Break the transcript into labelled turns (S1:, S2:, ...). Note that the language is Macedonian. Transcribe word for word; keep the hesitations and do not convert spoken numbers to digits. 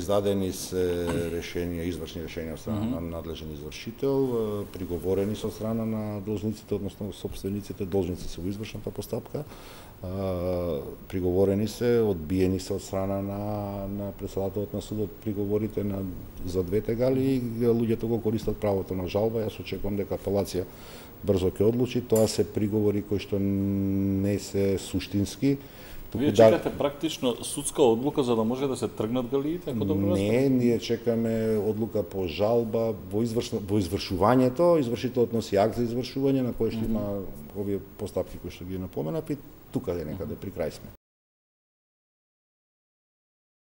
S1: издадени се решенија, извршни решенија од страна mm -hmm. на надлежен извршител, приговорени со страна на должниците, односно сопствениците, должници се во извршната постапка, приговорени се, одбиени се од страна на, на председателот на судот приговорите на, за двете гали и луѓето го користат правото на жалба. Јас очекувам дека апелација брзо ќе одлучи. Тоа се приговори кои што не се суштински.
S2: Вие чекате да... практично судска одлука за да може да се тргнат галиите, ако добро разбирам?
S1: Не, ние чекаме одлука по жалба во, изврш... во извршувањето. Извршителот носи акт за извршување на кој што mm -hmm. има овие постапки кои што ги напоменав и тука е некаде при крај сме.